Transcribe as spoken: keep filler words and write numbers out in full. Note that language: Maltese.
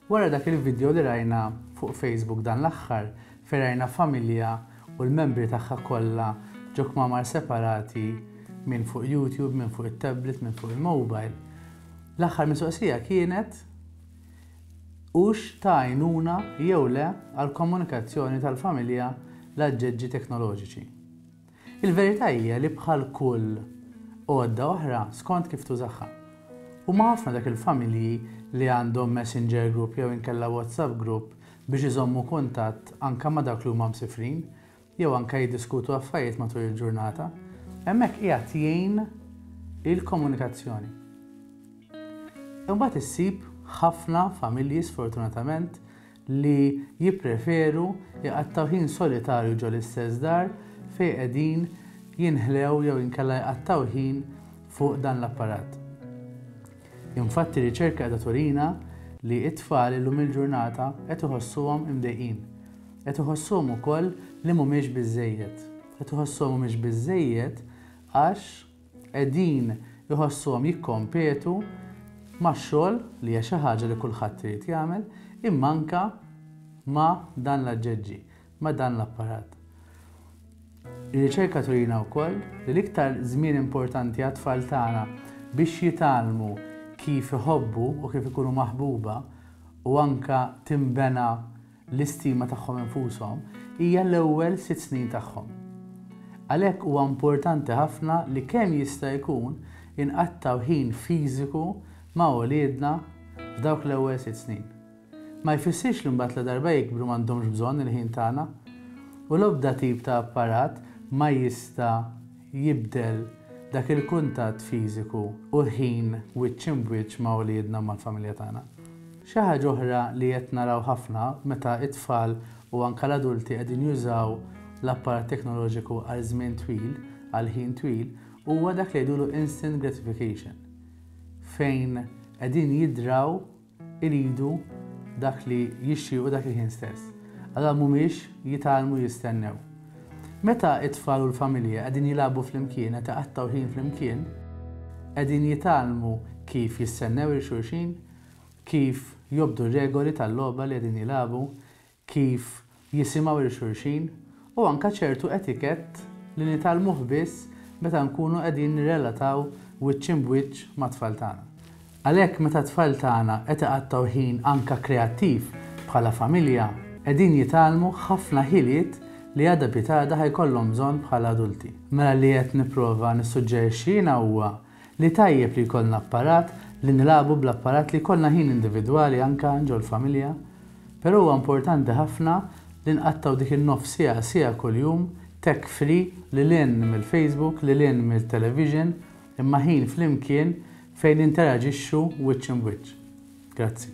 Wara dak il-video li rajna fuq Facebook dan l-aħħar, fejn rajna familja u l-membri tagħha kollha ġo kmamar separati, minn fuq YouTube, minn fuq it-tablet, minn fuq il-mobile. L-aħħar mistoqsija kienet hux ta' għajnuna jew le għal komunikazzjoni tal-familja l-aġġeġġi teknoloġiċi. Il-verità hija li bħal kull għodda oħra, skont kif tużaha. U ħafna dak il-familji li għandhom Messenger group jew inkella WhatsApp group biex iżommu kuntatt anka ma' dak li huma msifrin jew anka jiddiskutu affarijiet matul il-ġurnata, hemmhekk qiegħed jgħin il-komunikazzjoni. Imbagħad issib ħafna familji, sfortunatament, li jippreferu jqattaw ħin solitarju ġo l-istess dar fejn qegħdin jinħlew jew inkella jqattaw ħin fuq dan l-apparat. Infatti, riċerka qiegħda turina li it-tfal illum il-ġurnata qed iħossuhom imdejqin. Qed iħossuhom ukoll li mhumiex biżejjed. Qed iħossuhom mhumiex biżejjed għax qegħdin iħossuhom jikkompetu max-xogħol, li hija xi ħaġa li kulħadd irid jagħmel, imma anka ma' dan l-aġġeġġi, ma' dan l-apparat. Ir-riċerka turina wkoll li l-iktar żmien importanti għat-tfal tagħna biex jitgħallmu kif iħobbu u kif ikunu maħbuba u anka timbena l-istima tagħhom infushom hija l-ewwel sitt snin tagħhom. Għalhekk huwa importanti ħafna li kemm jista' jkun inqattaw ħin fiżiku ma' uliedna f'dawk l-ewwel sitt snin. Ma jfissirx li mbagħad la darba jikbru m'għandhomx bżonn il-ħin tagħna, u l-ebda tip ta' apparat ma jista' jibdel dak il-kuntatt fiżiku u l-ħin wiċċ imb'wiċċ ma' uliedna, mal-familja tagħna. Xi ħaġa oħra li qed naraw ħafna meta it-tfal u anka l-adulti qegħdin jużaw l-apparat teknoloġiku għal żmien twil, għal ħin twil, huwa dak li jgħidulu instant gratification. Fejn qegħdin jidraw iridu dak li jixtiequ dak il-ħin stess. Għadha mhumiex jitgħallmu jistennew. Meta it-tfal u l-familja qegħdin jilagħbu flimkien, qed iqattgħu ħin flimkien, qegħdin jitgħallmu kif jistennew lil xulxin, kif jobdu regoli tal-logħba li qegħdin jilagħbu, kif jisimgħu lil xulxin u anka ċertu etikett li nitgħallmuh biss meta nkunu qegħdin nirrelataw wiċċ imb'wiċċ mat-tfal tagħna. Għalhekk, meta t-tfal tagħna qed iqattgħu ħin anka kreattiv bħala familja, qegħdin jitgħallmu ħafna ħiliet li għada pitgħada ħa jkollhom bżonn bħala adulti. Mela li qed nipprova nissuġġerixxi jiena huwa li tajjeb li jkollna apparat, li nilagħbu bl-apparat, li jkollna ħin individwali anka ġol-familja, però huwa importanti ħafna li nqattaw dik in-nofs siegħa, siegħa kuljum tech free, lil hinn mill-Facebook, lil hinn mill-television, imma ħin flimkien fejn interaġixxu wiċċ imb'wiċċ. Grazzi.